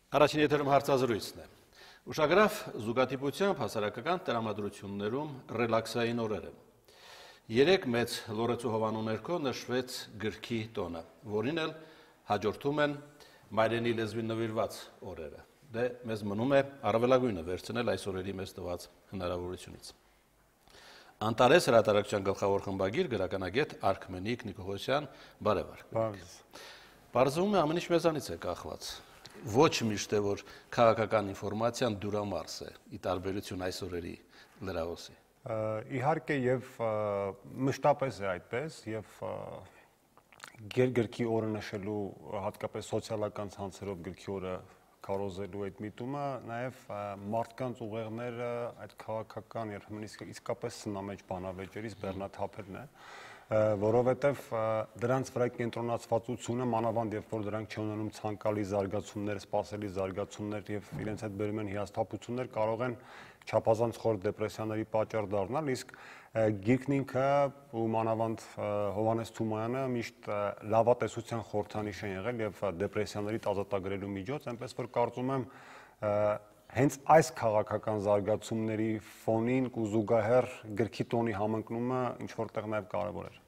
Առաջին եթերում հարցազրույցն է։ Ուշագրավ զուգադիպությամբ հասարակական տրամադրություններում ռելաքսային օրերը։ Երեք մեծ լորեցու հովանու ներքո նշվեց գրքի տոնը, որին էլ հաջորդում են մայրենի լեզվին նվիրված օրերը։ Դե մեզ մնում է առավելագույնը վերցնել այս օրերի մեզ տված հնարավորությունից։ Անտարես հրատարակչության գլխավոր խմբագիր գրականագետ Արքմենիկ Նիկողոսյան, բարևառք։ Պարզվում է ամեն ինչ մեզանից է կախված։ Ոչ միշտ է, որ քաղաքական ինֆորմացիան դյուրամարս է, ի տարբերություն այս օրերի լրահոսի։ Իհարկե եւ մշտապես է այդպես եւ գրքի օրը նշելու հատկապես սոցիալական ցանցերով գրքի օրը կարոզելու այդ միտումը նաեւ մարդկանց ուղեղները այդ քաղաքական եւ իսկապես սնամեջ բանավեճերից բեռնաթափելն է, որովհետեւ դրանց վրա կենտրոնացվածությունը մանավանդ երբ որ դրանք չունենում ցանկալի զարգացումներ, սպասելի զարգացումներ եւ իրենց հետ բերում են հիասթափություններ, կարող են չափազանց խոր դեպրեսիաների պատճառ դառնալ, իսկ գիրքն ինքը ու մանավանդ Հովհաննես Թումանյանը միշտ լավատեսության խորհրդանիշ են եղել եւ դեպրեսիաների ազատագրելու միջոց, այնպես որ կարծում եմ հենց այս քաղաքական զարգացումների ֆոնին ու զուգահեռ գրքի տոնի համընկնումը ինչ որտեղ նաեւ կարեւոր էր։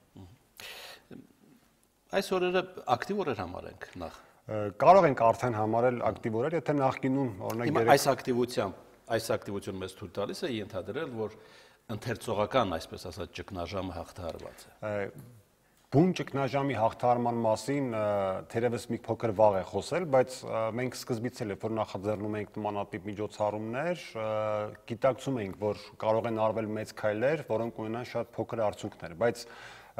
Այս օրերը ակտիվ օրեր համարենք նախ։ Կարող ենք արդեն համարել ակտիվ օրեր, եթե նախկինում օրինակ այս ակտիվությունը մեզ թույլ տալիս է ենթադրել, որ ընթերցողական, այսպես ասած, ճգնաժամը հաղթահարված է։ Բուն ճգնաժամի հաղթահարման մասին թերևս մի փոքր վաղ է խոսել, բայց մենք սկզբից էլ որ նախաձեռնում ենք նմանատիպ միջոցառումներ, գիտակցում ենք, որ կարող են արվել մեծ քայլեր, որոնք ունենան շատ փոքր արդյունքներ, բայց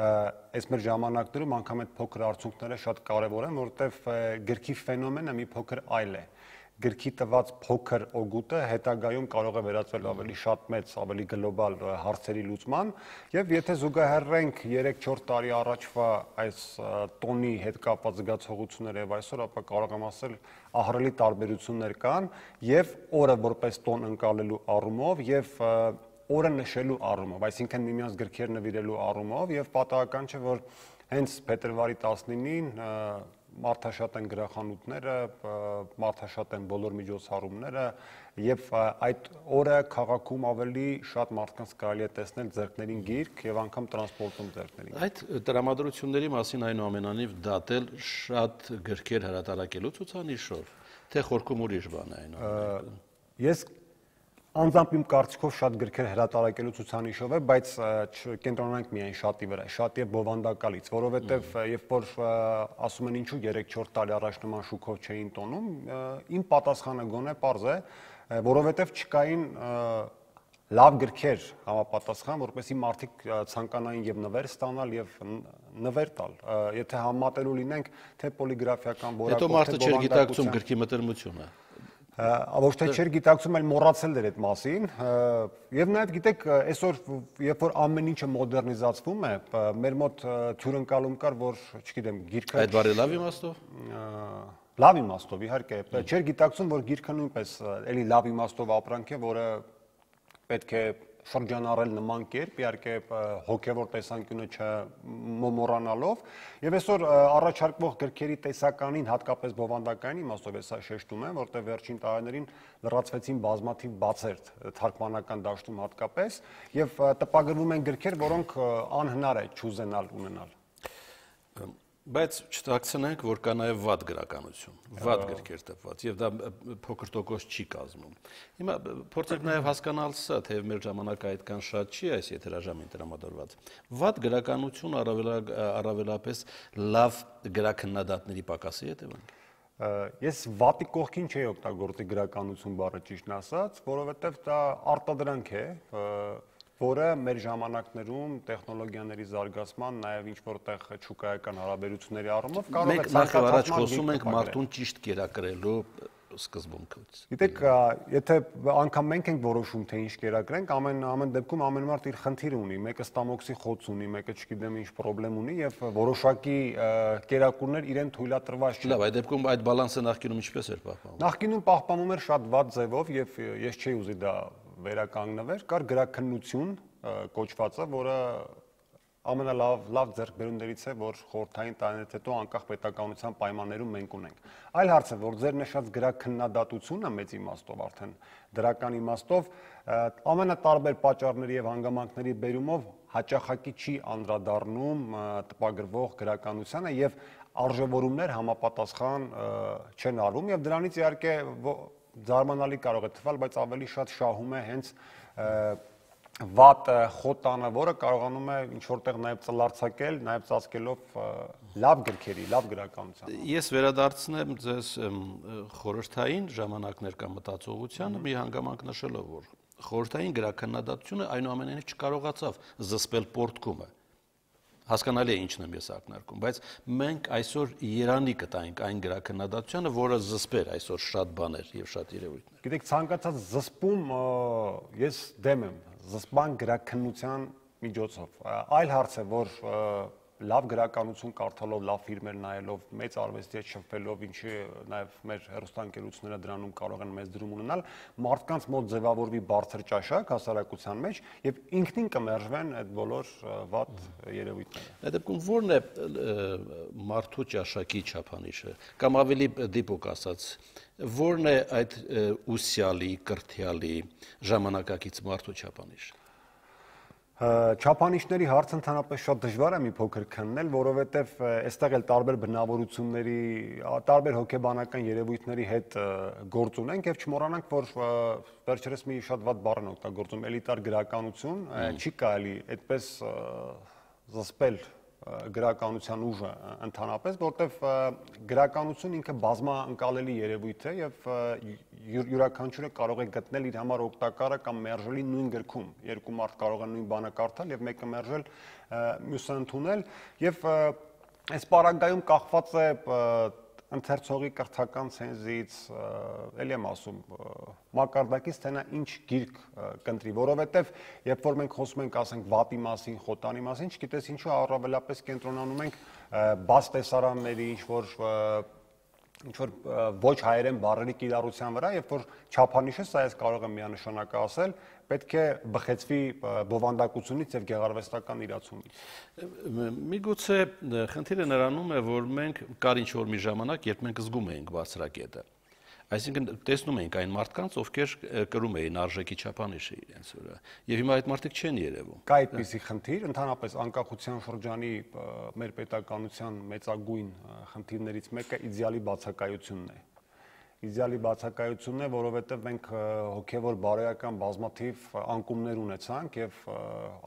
այս մեր ժամանակներում անգամ այդ փոքր արդյունքները շատ կարևոր են, որովհետև գրքի ֆենոմենը մի փոքր այլ է։ Գրքի տված փոքր օգուտը հետագայում կարող է վերածվել ավելի շատ մեծ, ավելի գլոբալ հարցերի լուծման, եւ եթե զուգահեռենք 3-4 տարի առաջվա այս տոնի հետ կապված զգացողությունները եւ այսօր, ապա կարող եմ ասել ահռելի տարբերություններ կան եւ օրը որպես տոն ընկալելու առումով եւ օրը նշելու առումով, այսինքն միմյանց գրքեր նվիրելու առումով եւ պատահական չէ, որ հենց փետրվարի 19-ին մարդաշատ են գրախանութները, մարդաշատ են բոլոր միջոցառումները եւ այդ օրը քաղաքում ավելի շատ մարդկանց կարելի է տեսնել ձեռքներին գիրք եւ անգամ տրանսպորտում ձեռքներին։ Այդ տրամադրությունների մասին այնուամենայնիվ դատել շատ գրքեր հրատարակելու ցուցանիշով, թե խորքում ուրիշ բան է այնուամենայնիվ։ Ես անձամբ իմ կարծիքով շատ գրքեր հրատարակելու ցուցանիշով է, բայց կենտրոնանանք միայն շատի վրա, շատ եւ բովանդակալից, որովհետեւ երբ որ ասում են ինչու 3-4 տարի առաջ նման շուկով չէին տոնում, իմ պատասխանը գոնե պարզ է, որովհետեւ չկային լավ գրքեր համապատասխան, որպեսզի մարդիկ ցանկանային եւ նվեր ստանալ եւ նվեր տալ։ Եթե համատելու լինենք, թե պոլիգրաֆիական որակով, հետո մարդը չէր գիտակցում գրքի մտերմությունը։ Ոչ թե չէր գիտակցում, այլ մոռացել էր այդ մասին, եւ նաեւ գիտեք, այսօր երբ որ ամեն ինչը մոդեռնիզացվում է, մեր մոտ թյուրընկալում կար, որ, չգիտեմ, գիրքը այդ բարի լավ իմաստով։ Լավ իմաստով, իհարկե, չէր գիտակցում, որ գիրքը նույնպես էլի լավ իմաստով ապրանք է, որը պետք է շրջանառել նման կերպ, իհարկե հոգևոր տեսանկյունը չմոռանալով, եւ այսօր առաջարկվող գրքերի տեսականին, հատկապես բովանդակային իմաստով է սա շեշտում եմ, որտեղ վերջին տարիներին լրացվեցին բազմաթիվ բացեր թարգմանական դաշտում հատկապես, եւ տպագրվում են գրքեր, որոնք անհնար է չուզենալ ունենալ։ Բայց չթաքցնենք, որ կա նաև վատ գրականություն, վատ գրքեր տպված, եւ դա փոքր տոկոս չի կազմում։ Հիմա փորձենք նաև հասկանալ սա, թե մեր ժամանակը այդքան շատ չի այս եթերաժամին տրամադրված։ Վատ գրականություն առավելապես լավ գրաքննադատների պակասի հետևանք։ Ես վատի կողքին չէի օգտագործի գրականություն բառը ճիշտն ասած, որովհետև դա արտադրանք է, որը մեր ժամանակներում տեխնոլոգիաների զարգացման, նաև ինչ-որտեղ շուկայական հարաբերությունների առումով կարող է ցանկացած առաջ խոսում ենք մարդուն ճիշտ կերակրելու սկզբունքից։ Գիտեք, եթե անգամ մենք ենք որոշում, թե ինչ կերակրենք, ամեն դեպքում ամեն մարդ իր խնդիրը ունի, մեկը ստամոքսի խոց ունի, մեկը չգիտեմ ինչ խնդրեմ ունի եւ որոշակի կերակուրներ իրեն թույլատրված չեն։ Լավ, այդ դեպքում այդ բալանսը նախկինում ինչպես էր պահպանվում։ Նախկինում պահպանվում էր շատ վատ ձևով եւ ես չէի ուզի դա վերականգնվեր, կար գրաքննություն կոչվածը, որը ամենալավ ձեռքբերումներից է, որ խորհրդային տարիներից հետո անկախ պետականության պայմաններում մենք ունենք։ Այլ հարց է, որ ձեր նշած գրաքննադատությունը մեծ իմաստով արդեն դրական իմաստով ամենատարբեր պատճառների եւ հանգամանքների բերումով հաճախակի չի անդրադառնում տպագրվող գրականությանը եւ արժևորումներ համապատասխան չեն արվում եւ դրանից իհարկե զարմանալի կարող է թվալ, բայց ավելի շատ շահում է հենց վատ խոտանը, որը կարողանում է ինչ-որտեղ նաև ծլարձակել, նաև ծածկելով լավ գրքերի, լավ գրականության։ Ես վերադարձնեմ ձեզ խորհրդային ժամանակներ կամ մտածողությանը մի հանգամանք նշելով, որ խորհրդային գրաքննադատությունը այնուամենայնիվ չկարողացավ զսպել պորտկումը։ Հասկանալի է ինչն եմ ես ակնարկում, բայց մենք այսօր երանի կտայինք այն գրաքննադատությանը, որը զսպեր այսօր շատ բաներ եւ շատ երևույթներ։ Գիտեք, ցանկացած զսպում ես դեմ եմ զսպման գրաքննության միջոցով։ Այլ հարց է, որ լավ գրականություն կարդալով, լավ ֆիլմեր նայելով, մեծ արվեստի հետ շփվելով, ինչի նաև մեր հեռուստաընկերությունները դրանում կարող են մեծ դրում ունենալ, մարդկանց մոտ ձևավորվի բարձր ճաշակ հասարակության մեջ եւ ինքնին կմերժվեն այդ բոլոր վատ երևույթները։ Այդ դեպքում ո՞րն է մարդու ճաշակի չափանիշը, կամ ավելի դիպուկ ասած, ո՞րն է այդ ուսյալի, կրթյալի, ժամանակակից մարդու չափանիշը։ Չափանիշների հարցը ընդհանրապես շատ դժվար է մի փոքր քննել, որովհետև այստեղ էլ տարբեր բնավորությունների, տարբեր հոգեբանական երևույթների հետ գործ ունենք եւ չմոռանանք, որ վերջերս մի շատ վատ բառ են օգտագործում էլիտար գրականություն, չի կարելի այդպես զսպել գրականության ուժը ընդհանրապես, որտեվ գրականություն ինքը բազմաընկալելի երևույթ է եւ յուրաքանչյուրը կարող է գտնել իր համար օգտակարը կամ մերժելի նույն գրքում։ Երկու մարդ կարող են նույն բանը կարդալ եւ մեկը մերժել, մյուսը ընդունել եւ այս պարագայում կախված է ընթերցողի կրթական ցենզից, ելի եմ ասում, մակարդակից թե նա ինչ գիրք կընտրի, որովհետև երբ որ մենք խոսում ենք, ասենք, վատի մասին, խոտանի մասին, չգիտես ինչու առավելապես կենտրոնանում ենք բաց տեսարանների, ինչ որ ոչ հայերեն բառերի կիրառության վրա, երբ որ չափանիշը, սա ես կարող եմ միանշանակ ասել, պետք է բխեցվի բովանդակությունից եւ գեղարվեստական իրացումից։ Միգուցե խնդիրը նրանում է, որ մենք կար ինչ-որ մի ժամանակ, երբ մենք զգում էինք բարձրակետը, այսինքն տեսնում էինք այն մարդկանց, ովքեր կրում էին արժեքի չափանիշը իրենց վրա, եւ հիմա այդ մարդիկ չեն երևում։ Կա այդպիսի խնդիր, ընդհանրապես անկախության շրջանի մեր պետականության մեծագույն խնդիրներից մեկը իդեալի բացակայությունն է։ Իդեալի բացակայությունն է, որովհետև մենք հոգևոր բարոյական բազմաթիվ անկումներ ունեցանք եւ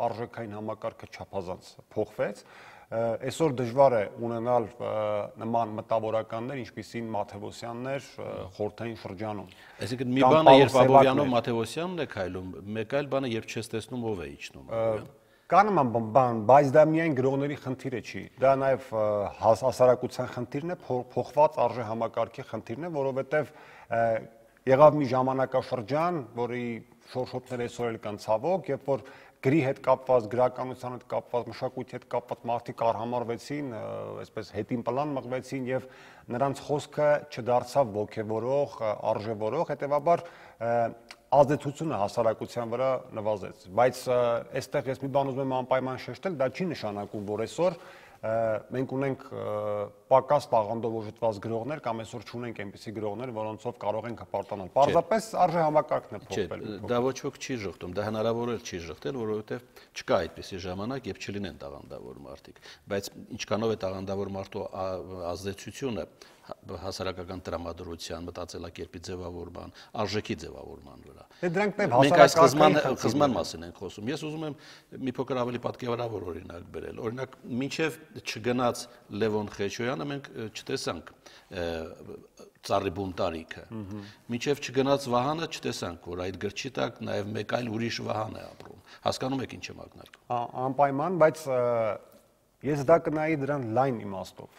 արժեքային համակարգը չափազանց փոխվեց։ Այսօր դժվար է ունենալ նման մտավորականներ, ինչպիսին Մաթեոսյաններ խորհրդային շրջանում։ Այսինքն մի բանը երբ Աբովյանով Մաթեոսյանն է քայլում, մեկ այլ բանը երբ չես տեսնում ով է իջնում։ Կա նման բան, բայց դա միայն գրողների խնդիրը չի։ Դա նաև հասարակության խնդիրն է, փոխված արժե համակարգի խնդիրն է, որովհետև եղավ մի ժամանակաշրջան, որի շորշոթները այսօր էլ կան ցավոք, երբ որ գրի հետ կապված, գրականության հետ կապված, մշակույթի հետ կապված մարդիկ արհամարվեցին, այսպես հետին պլան մղվեցին եւ նրանց խոսքը չդարձավ ոգևորող, արժևորող, հետեւաբար ազդեցությունը հասարակության վրա նվազեց, բայց այստեղ ես մի բան ուզում եմ անպայման շեշտել, դա չի նշանակում, որ այսօր մենք ունենք պակաս տաղանդով օժտված գրողներ կամ այսօր չունենք այնպիսի գրողներ, որոնցով կարող ենք հպարտանալ։ Պարզապես արժե համակարգն է փոխվել։ Դա ոչ ոք չի ժխտում, դա հնարավոր է չի ժխտել, որովհետև չկա այդպիսի ժամանակ եւ չլինեն տաղանդավոր մարդիկ, բայց ինչքանով է տաղանդավոր մարդու ազդեցությունը հասարակական տրամադրության, մտածելակերպի ձևավորման, արժեքի ձևավորման վրա։ Մենք այս խզման մասին ենք խոսում։ Ես ուզում եմ մի փոքր ավելի պատկերավոր օրինակ բերել։ Օրինակ, մինչև չգնաց Լևոն Խեչոյանը մենք չտեսանք Ծառի բունտարիքը։ Մինչև չգնաց Վահանը չտեսանք, որ այդ գրչի տակ նաև մեկ այլ ուրիշ Վահան է ապրում։ Հասկանում եք ինչ եմ ակնարկում։ Անպայման, բայց ես դա կնայի դրան լայն իմաստով։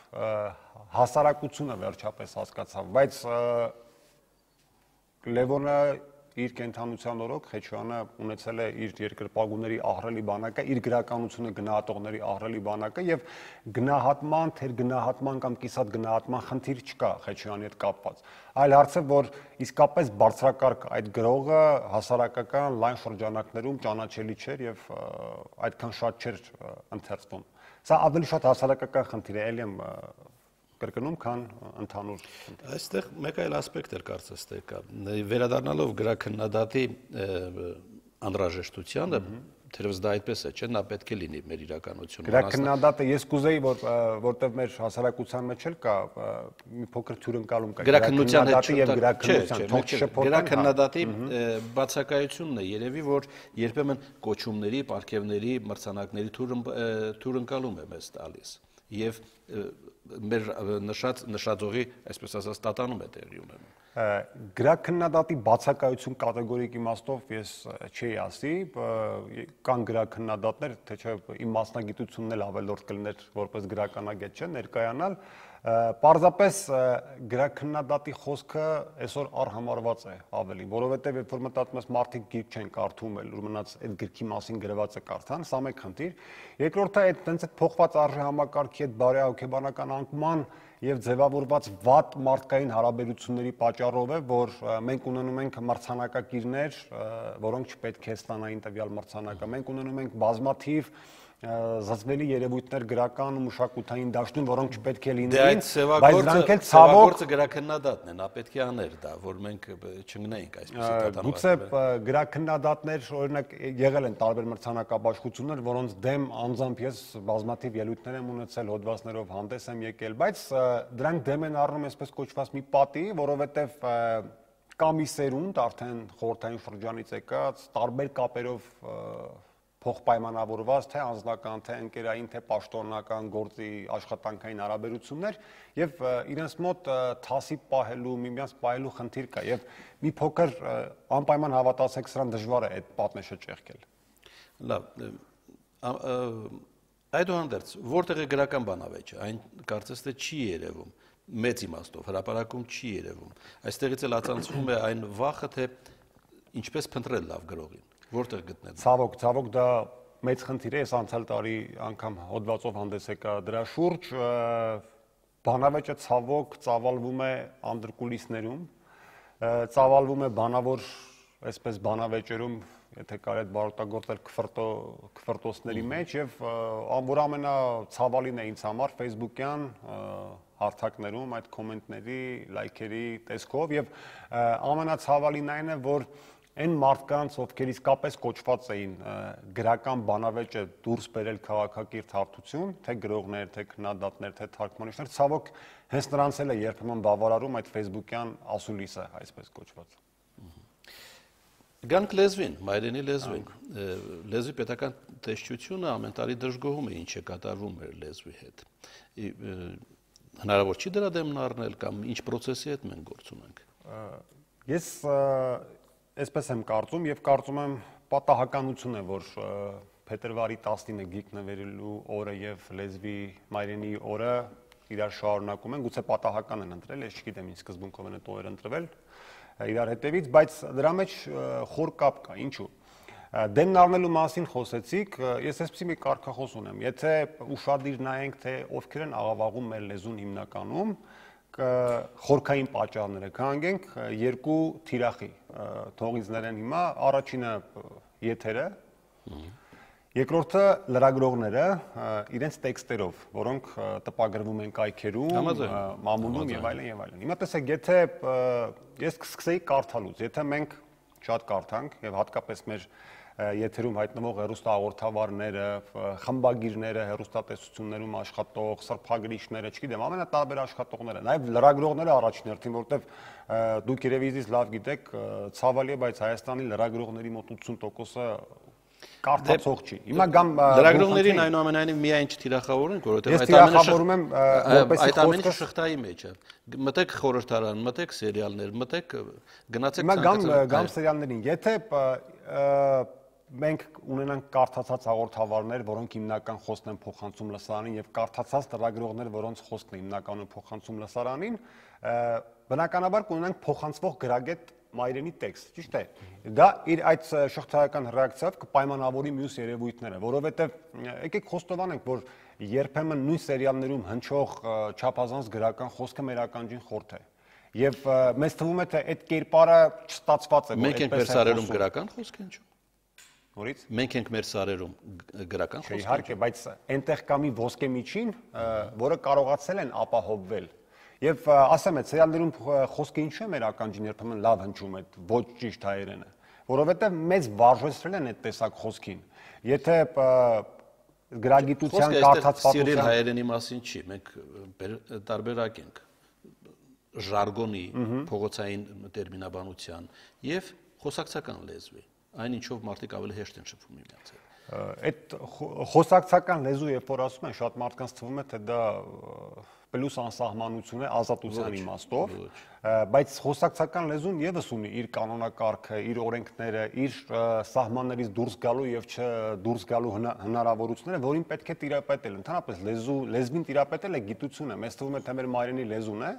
Հասարակությունը վերջապես հասկացավ, բայց Լևոնը իր կենթանության օրոք Խեչյանը ունեցել է իր երկրպագուների ահռելի բանակը, իր գրականությունը գնահատողների ահռելի բանակը եւ գնահատման, թերգնահատման կամ կիսատ գնահատման խնդիր չկա Խեչյանի հետ կապված։ Այլ հարցը, որ իսկապես բարձրակարգ այդ գրողը հասարակական լայն շրջանակներում ճանաչելի չէր եւ այդքան շատ չէր ընթերցվում։ Սա ավելի շատ հասարակական խնդիր է, ելի եմ կրկնում, քան ընդհանուր։ Այստեղ մեկ այլ ասպեկտ էր կարծես թե կա։ Վերադառնալով գրաքննադատի անհրաժեշտությանը, թերևս դա այդպես է, չէ՞, նա պետք է լինի մեր իրականությունում։ Գրաքննադատը ես կուզեի, որտեղ մեր հասարակության մեջ էլ կա մի փոքր թյուրընկալում կա գրաքննության եւ գրաքննության գրաքննադատի բացակայությունն է երևի, որ երբեմն կոչումների, պարգևների, մրցանակների թյուրընկալում է մեզ տալիս եւ մեր նշածողի, այսպես ասած, տատանում է տեղի ունենում։ Գրաքննադատի բացակայություն կատեգորիկ իմաստով ես չի ասի, կան գրաքննադատներ, թե չէ իմ մասնագիտությունն էլ ավելորդ կլիներ որպես գրականագետ չէ ներկայանալ, պարզապես գրաքննադատի խոսքը այսօր առհամարված է ավելի, որովհետև երբ որ մտածում ես մարդիկ գիրք չեն կարդում, էլ որ մնաց այդ գրքի մասին գրված է կարդան, սա մեկ խնդիր։ Երկրորդը այդ տենց այդ փոխված արժե համակարգի այդ բարեհոգեբանական անկման եւ ձևավորված վատ մարդկային հարաբերությունների պատճառով է, որ մենք ունենում ենք մրցանակակիրներ, որոնք չպետք է ստանային տվյալ մրցանակը։ Մենք ունենում ենք բազմաթիվ զզվելի երևույթներ գրական ու մշակութային դաշտում, որոնք չպետք է լինեին, բայց դրանք էլ ցավոք գրաքննադատն է, նա պետք է աներ դա, որ մենք չընկնեինք այսպես տատանված։ Գուցե գրաքննադատներ, օրինակ, եղել են տարբեր մրցանակաբաշխություններ, որոնց դեմ անձամբ ես բազմաթիվ ելույթներ եմ ունեցել, հոդվածներով հանդես եմ եկել, բայց դրանք դեմ են առնում այսպես կոչված մի պատի, որովհետև կա մի սերունդ արդեն խորհրդային շրջանից եկած, տարբեր կապերով փոխպայմանավորված թե անձնական, թե ընկերային, թե պաշտոնական գործի աշխատանքային հարաբերություններ եւ իրենց մոտ թասի պահելու, միմյանց պահելու խնդիր կա եւ մի փոքր անպայման հավատացեք, սրան դժվար է այդ պատնեշը ճեղքել։ Լավ, այդուհանդերձ, որտեղ է գրական բանավեճը, այն կարծես թե չի երևում, մեծ իմաստով, հրապարակում չի երևում։ Այստեղից էլ ածանցվում է այն վախը, թե ինչպես փնտրել լավ գրողին։ Որտեղ գտնել։ Ցավոք դա մեծ խնդիր է, ես անցյալ տարի անգամ հոդվածով հանդես եկա դրա շուրջ, բանավեճը ցավոք ծավալվում է անդրկուլիսներում, ծավալվում է բանավոր, այսպես բանավեճերում, եթե կարելի է բարօրտագործել քֆրտոսների մեջ եւ որ ամենացավալին է ինձ համար Facebook-յան հարթակներում այդ կոմենտների, լայքերի տեսքով եւ ամենացավալին այն է, որ այն մարդկանց, ովքեր իսկապես կոչված էին գրական բանավեճը դուրս բերել քաղաքակիրթ հարթություն, թե գրողներ, թե քննադատներ, թե թարգմանիչներ, ցավոք հենց նրանց էլ է երբեմն բավարարում այդ Facebook-յան ասուլիսը, այսպես կոչված։ Գանք լեզվին, մայրենի լեզվին, լեզվի պետական տեսչությունը ամեն տարի դժգոհում է ինչ է կատարվում մեր լեզվի հետ։ Հնարավոր չի դրա դեմն առնել կամ ինչ պրոցեսի հետ մենք գործ ունենք։ Ես այսպես եմ կարծում եւ կարծում եմ պատահականություն է, որ փետրվարի 19-ը գիրք նվերելու օրը եւ լեզվի մայրենի օրը իրար շարունակում են, գուցե պատահական են ընտրել, ես չգիտեմ ինչ սկզբունքով են այդ օրը ընտրվել իրար հետևից, բայց դրա մեջ խոր կապ կա, ինչու։ Դեմն առնելու մասին խոսեցիք, ես այսպեսի մի կարգախոս ունեմ, եթե ուշադիր նայենք, թե ովքեր են աղավաղում մեր լեզուն հիմնականում, խորքային պատճառները կհանգենք երկու թիրախի թողից ներեն հիմա, առաջինը եթերը, երկրորդը լրագրողները իրենց տեքստերով, որոնք տպագրվում են կայքերում, մամուլում եւ այլն եւ այլն։ Հիմա տեսեք, եթե ես սկսեի կարդալուց, եթե մենք շատ կարդանք եւ հատկապես մեր եթերում հայտնվող հեռուստահաղորդավարները, խմբագիրները, հեռուստատեսություններում աշխատող, սրբագրիչները, չգիտեմ, ամենատարբեր աշխատողները, նաև լրագրողները առաջին հերթին, որովհետև դուք երևի ինձ լավ գիտեք, ցավալի է, բայց Հայաստանի լրագրողների մոտ 80%-ը կարդացող չի։ Հիմա գամ լրագրողներին այնուամենայնիվ միայն չթիրախավորենք, որովհետև այդ ամենը շղթայի մեջ է։ Մտեք խորհրդարան, մտեք սերիալներ, մտեք գնացեք ցանկացած։ Հիմա գամ սերիալներին, եթե մենք ունենանք կարդացած հաղորդավարներ, որոնք հիմնական խոսքն են փոխանցում լսարանին եւ կարդացած լրագրողներ, որոնց խոսքն է հիմնականում փոխանցում լսարանին, բնականաբար կունենանք փոխանցվող գրագետ մայրենի տեքստ, ճիշտ է։ Դա իր այդ շղթայական ռեակցիայով կպայմանավորի մյուս երևույթները, որովհետեւ եկեք խոստովանենք, որ երբեմն նույն սերիալներում հնչող չափազանց գրական խոսքը մեր ականջին խորթ է։ Եվ մեզ թվում է, թե այդ կերպարը չստացված է, որ այդպես է սարերում գրական խոսք են ինչու։ Նորից մենք ենք մեր սարերում գրական խոսք։ Իհարկե, բայց այնտեղ կա մի ոսկե միջին, որը կարողացել են ապահովվել։ Եվ ասեմ, այդ սերիալներում խոսքը ինչու է մեր ականջին երբեմն լավ հնչում է, ոչ ճիշտ հայերենը, որովհետև մեզ վարժեցրել են այդ տեսակ խոսքին։ Եթե գրագիտության կարդացվածության սիրել հայերենի մասին չի, մենք տարբերակ ենք ժարգոնի, փողոցային տերմինաբանության եւ խոսակցական լեզվի, այն ինչով մարդիկ ավելի հեշտ են շփվում միմյանց հետ։ Այդ խոսակցական լեզու, երբ որ ասում են, շատ մարդկանց թվում է, թե դա պլյուս անսահմանություն է ազատության իմաստով, բայց խոսակցական լեզուն եւս ունի իր կանոնակարգը, իր օրենքները, իր սահմաններից դուրս գալու եւ չդուրս գալու հնարավորությունները, որին պետք է տիրապետել։ Ընդհանրապես լեզվին տիրապետել է գիտությունը, մեզ թվում է, թե մեր մայրենի լեզուն է,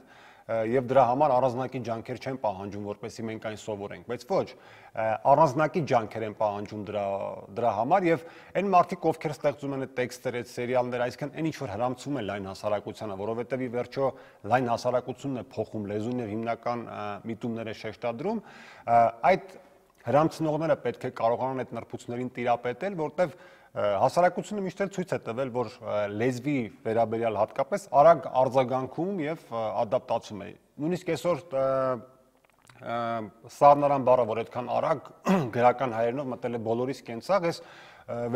եւ դրա համար առանձնակի ջանքեր չեն պահանջում, որպեսզի մենք այն սովորենք, բայց ոչ, առանձնակի ջանքեր են պահանջում դրա համար եւ այն մարդիկ, ովքեր ստեղծում են այդ տեքստերը, այդ սերիալները, այսինքն այն ինչ որ հրամցում են լայն հասարակությանը, որովհետեւ ի վերջո լայն հասարակությունն է փոխում լեզուն եւ հիմնական միտումներ է շեշտադրում, այդ հրամցնողները պետք է կարողանան այդ նրբություններին տիրապետել, որտեվ հասարակությունը միշտ էլ ցույց է տվել, որ լեզվի վերաբերյալ հատկապես արագ արձագանքում եւ ադապտացում է։ Նույնիսկ այսօր սառնարան բառը, որ այդքան արագ գրական հայերենով մտել է բոլորիս կենցաղ, ես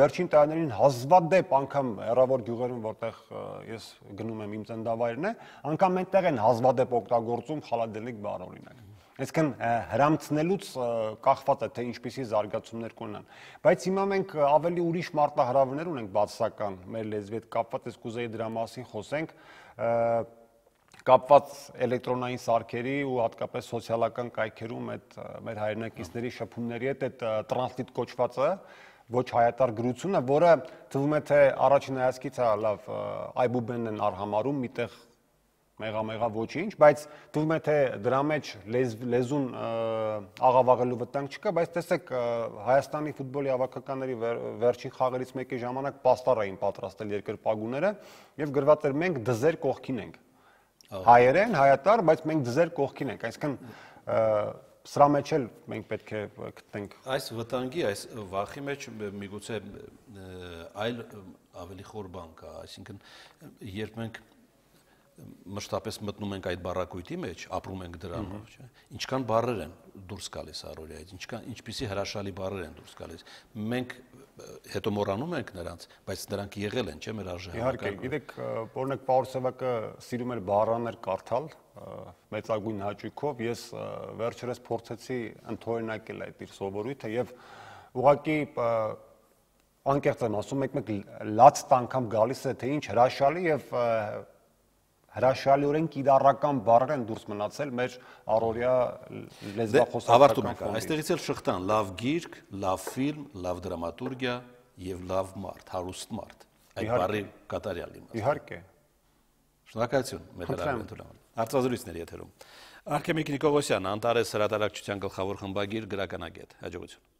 վերջին տարիներին հազվադեպ անգամ հեռավոր գյուղերում, որտեղ ես գնում եմ իմ ծննդավայրն է, անգամ այնտեղ են հազվադեպ օգտագործում խալադելնիկ բառը օրինակ։ Այսինքն հրամցնելուց կախված է, թե ինչպիսի զարգացումներ կունենան։ Բայց հիմա մենք ավելի ուրիշ մարտահրավերներ ունենք բացասական մեր լեզվի հետ կապված, ես կուզեի դրա մասին խոսենք, կապված էլեկտրոնային սարքերի ու հատկապես սոցիալական կայքերում այդ մեր հայրենակիցների շփումների հետ այդ տրանսլիտ կոչվածը, ոչ հայատար գրությունը, որը թվում է, թե առաջին հայացքից լավ այբուբենն են արհամարում, միտեղ մեղամեղա ոչինչ, բայց թվում է, թե դրա մեջ լեզուն աղավաղելու վտանգ չկա, բայց տեսեք Հայաստանի ֆուտբոլի հավաքականների վերջին խաղերից մեկի ժամանակ պաստառ էին պատրաստել երկրպագուները եւ գրված էր մենք դզեր կողքին ենք։ Հայերեն, հայատար, բայց մենք դզեր կողքին ենք, այսինքն սրա մեջ էլ մենք պետք է գտնենք։ Այս վտանգի, այս վախի մեջ միգուցե այլ ավելի խոր բան կա, այսինքն երբ մենք մշտապես մտնում ենք այդ բառակույտի մեջ, ապրում ենք դրանով, չէ՞։ Ինչքան բառեր են դուրս գալիս առօրյայից, ինչպիսի հրաշալի բառեր են դուրս գալիս։ Մենք հետո մոռանում ենք նրանց, բայց նրանք եղել են, չէ՞, մեր արժեհամակարգում։ Իհարկե, գիտեք, օրինակ Պաուլ Սևակը սիրում էր բառաներ կարդալ մեծագույն հաճույքով, ես վերջերս փորձեցի ընդօրինակել այդ իր սովորույթը եւ ուղղակի անկեղծ եմ ասում, մեկ լաց անգամ գալիս է, թե ինչ հրաշալի եւ հրաշալիորեն կիրառական բառեր են դուրս մնացել մեր առօրյա լեզվախոսական ֆոնդից։ Այստեղից էլ շղթան լավ գիրք, լավ ֆիլմ, լավ դրամատուրգիա եւ լավ մարդ, հարուստ մարդ։ Այդ բառի կատարյալ իմաստը։ Իհարկե։ Շնորհակալություն, Մեդրավետուլյան։ Արտազրույցների եթերում։ Արքեմիկ Նիկողոսյան, Անտարես հրատարակչության գլխավոր խմբագիր, գրականագետ։ Հաջողություն։